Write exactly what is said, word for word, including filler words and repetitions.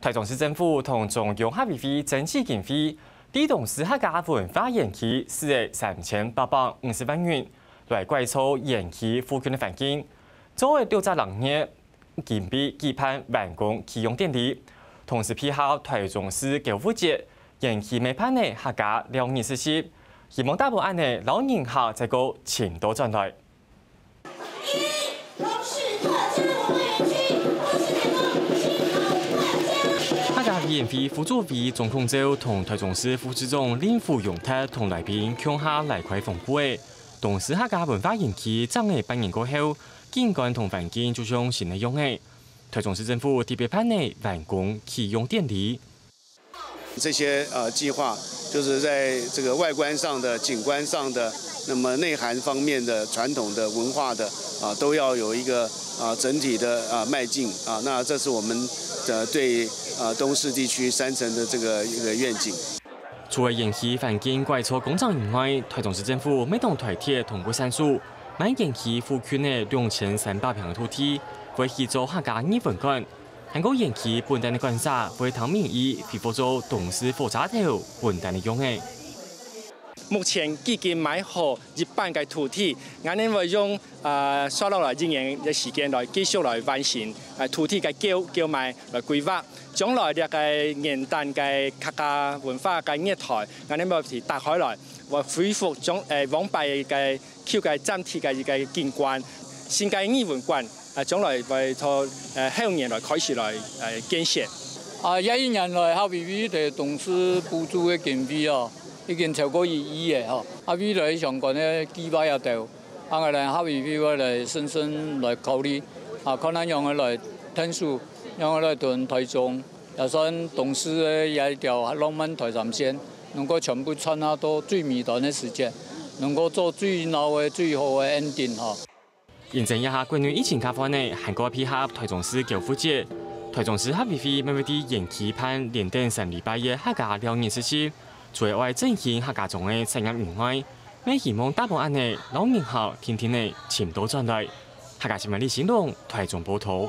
臺中市政府同中央客委會爭取經費，在東勢客家文化園區四億三千八百五十萬元，來改造園區附近个環境，做六隻零月， 準備舉辦完工啟用典禮，同時配合臺中市購物節，園區乜辦理客家尞日市集，希望打包恁仔摎人客再過尋到轉來。客家委員會副主委鍾孔照同臺中市副市長林福榮等同來賓共下拉開紅布仔。東勢客家文化園區正仔半年過後， 景觀同環境就像新个樣仔。臺中市政府特別辦理完工啟用典禮。這些呃計劃，就是在這個外觀上的、景觀上的，那麼內涵方面的、傳統的文化的啊，都要有一個啊整體的啊邁進啊。那這是我們的對啊東勢地區山城的這個一個願景。 除了園區環境改造工程以外，臺中市政府乜同臺鐵同步𢯭手，買園區附近个兩千三百坪个土地，會起做客家藝文館。還過園區本旦个館舍會聽民意，恢復做東勢火車頭本旦个樣仔。目前既經買好一半个土地，𠊎等會用 呃，續落來一年个時間來繼續來完成，呃，土地个購購買來規劃。將來這個元旦个客家文化个月台，𠊎等會去打開來，會恢復將呃往擺个舊个站體个一個景觀。新个藝文館，呃，將來會從呃後年來開始來呃建設。啊，這一年來，客委會在東勢補助个經費哦，已經超過一億个吼。啊，未來相關个計劃也都 啊，𠊎等客委會會來審慎來考慮，啊，看下仰仔來𢯭手，仰仔來同臺中，也算東勢个這一條浪漫臺三線，能夠全部串下到最尾段个時間，能夠做最鬧个、最好个ending吼。因應這下國內疫情較緩仔，還過配合臺中市購物節，臺中市客委會乜會在園區辦連等三禮拜个客家尞日市集。 除了愛振興客家庄个產業以外，乜希望打包恁仔摎人客定定仔尋到轉來。客家新聞李新龍，臺中報導。